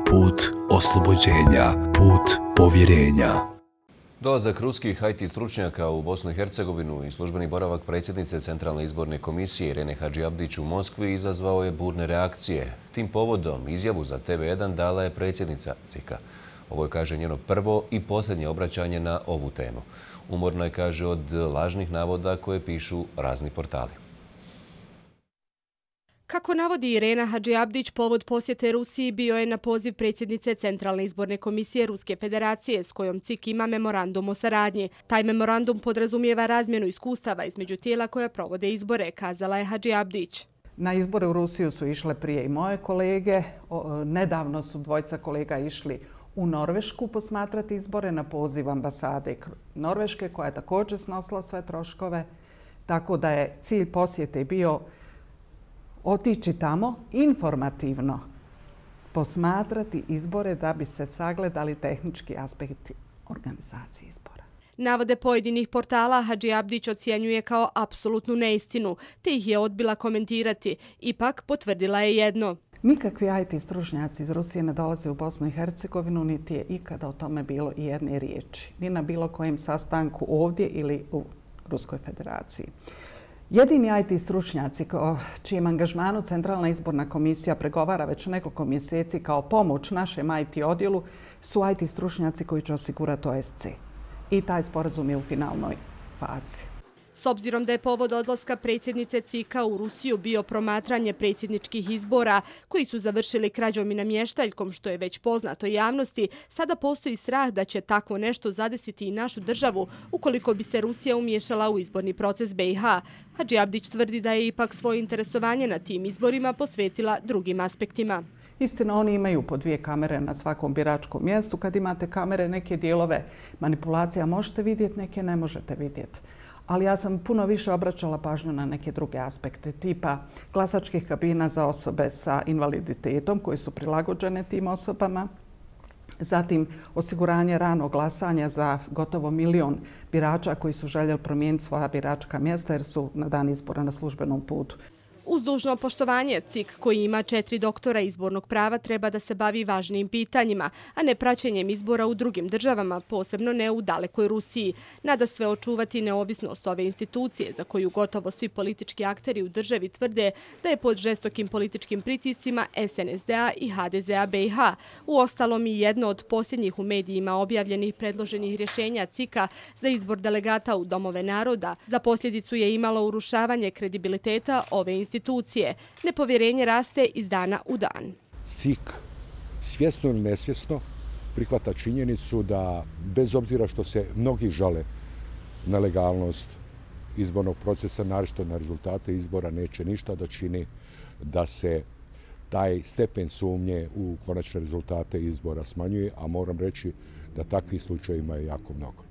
put oslobođenja, put povjerenja. Dolazak ruskih IT stručnjaka u Bosnu i Hercegovinu i službeni boravak predsjednice Centralne izborne komisije Irene Hadžiabdić u Moskvi izazvao je burne reakcije. Tim povodom izjavu za TV1 dala je predsjednica CIK-a. Ovo je, kaže, njeno prvo i posljednje obraćanje na ovu temu. Umorna je, kaže, od lažnih navoda koje pišu razni portali. Kako navodi Irena Hadžiabdić, povod posjete Rusiji bio je na poziv predsjednice Centralne izborne komisije Ruske federacije s kojom CIK ima memorandum o saradnji. Taj memorandum podrazumijeva razmjenu iskustava između tijela koja provode izbore, kazala je Hadžiabdić. Na izbore u Rusiju su išle prije i moje kolege. Nedavno su dvojica kolega išli u Norvešku posmatrati izbore na poziv ambasade Norveške, koja je također snosila sve troškove. Tako da je cilj posjete bio otići tamo informativno posmatrati izbore da bi se sagledali tehnički aspekti organizacije izbora. Navode pojedinih portala Hadžiabdić ocjenjuje kao apsolutnu neistinu, te ih je odbila komentirati. Ipak potvrdila je jedno. Nikakvi IT stručnjaci iz Rusije ne dolaze u Bosnu i Hercegovinu, niti je ikada o tome bilo i jedne riječi. Ni na bilo kojem sastanku ovdje ili u Ruskoj federaciji. Jedini IT stručnjaci čijem angažmanu Centralna izborna komisija pregovara već nekoliko mjeseci kao pomoć našem IT odjelu su IT stručnjaci koji će osigurati OSC. I taj sporazum je u finalnoj fazi. S obzirom da je povod odlaska predsjednice CIK-a u Rusiju bio promatranje predsjedničkih izbora koji su završili krađom i namještaljkom, što je već poznato javnosti, sada postoji strah da će takvo nešto zadesiti i našu državu ukoliko bi se Rusija umiješala u izborni proces BiH. Hadžiabdić tvrdi da je ipak svoje interesovanje na tim izborima posvetila drugim aspektima. Istina, oni imaju po 2 kamere na svakom biračkom mjestu. Kad imate kamere, neke dijelove manipulacija možete vidjeti, neke ne možete vidjeti. Ali ja sam puno više obraćala pažnju na neke druge aspekte, tipa glasačkih kabina za osobe sa invaliditetom koje su prilagođene tim osobama, zatim osiguranje ranog glasanja za gotovo 1 milion birača koji su željeli promijeniti svoja biračka mjesta jer su na dan izbora na službenom putu. Uz dužno poštovanje, CIK koji ima 4 doktora izbornog prava treba da se bavi važnim pitanjima, a ne praćenjem izbora u drugim državama, posebno ne u dalekoj Rusiji. Nada sve očuvati neovisnost ove institucije, za koju gotovo svi politički akteri u državi tvrde da je pod žestokim političkim pritiscima SNSD-a i HDZ-a BiH. Uostalom i jedno od posljednjih u medijima objavljenih predloženih rješenja CIK-a za izbor delegata u domove naroda za posljedicu je imalo urušavanje kredibiliteta ove institucije. Nepovjerenje raste iz dana u dan. CIK svjesno ili nesvjesno prihvata činjenicu da bez obzira što se mnogi žale na legalnost izbornog procesa, naročito na rezultate izbora, neće ništa da čini da se taj stepen sumnje u konačne rezultate izbora smanjuje, a moram reći da takvih slučajeva je jako mnogo.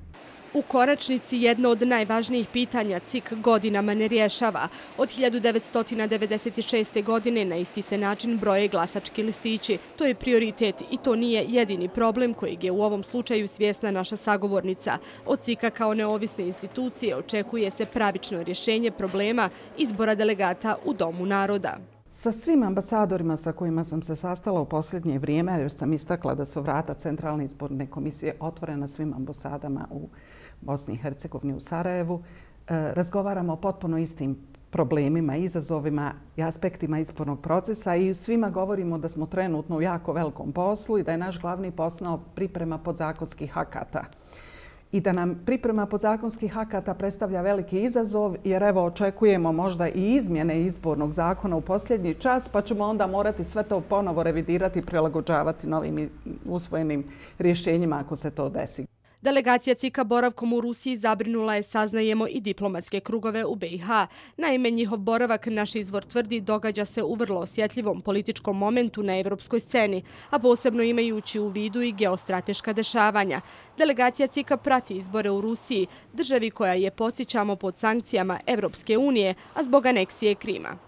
U konačnici jedno od najvažnijih pitanja CIK godinama ne rješava. Od 1996. godine na isti se način broje glasački listići. To je prioritet i to nije jedini problem kojeg je u ovom slučaju svjesna naša sagovornica. Od CIK-a kao neovisne institucije očekuje se pravično rješenje problema izbora delegata u Domu naroda. Sa svim ambasadorima sa kojima sam se sastala u posljednje vrijeme, jer sam istakla da su vrata Centralne izborne komisije otvorena svim ambasadama u Bosni i Hercegovini, u Sarajevu, razgovaramo o potpuno istim problemima, izazovima i aspektima izbornog procesa i svima govorimo da smo trenutno u jako velikom poslu i da je naš glavni posao priprema podzakonskih akata. I da nam priprema podzakonskih akata predstavlja veliki izazov, jer evo očekujemo možda i izmjene izbornog zakona u posljednji čas, pa ćemo onda morati sve to ponovo revidirati i prilagođavati novim usvojenim rješenjima ako se to desi. Delegacija CIK-a boravkom u Rusiji zabrinula je, saznajemo, i diplomatske krugove u BiH. Naime, njihov boravak, naš izvor tvrdi, događa se u vrlo osjetljivom političkom momentu na evropskoj sceni, a posebno imajući u vidu i geostrateška dešavanja. Delegacija CIK-a prati izbore u Rusiji, državi koja je, podsjećamo, pod sankcijama Evropske unije, a zbog aneksije Krima.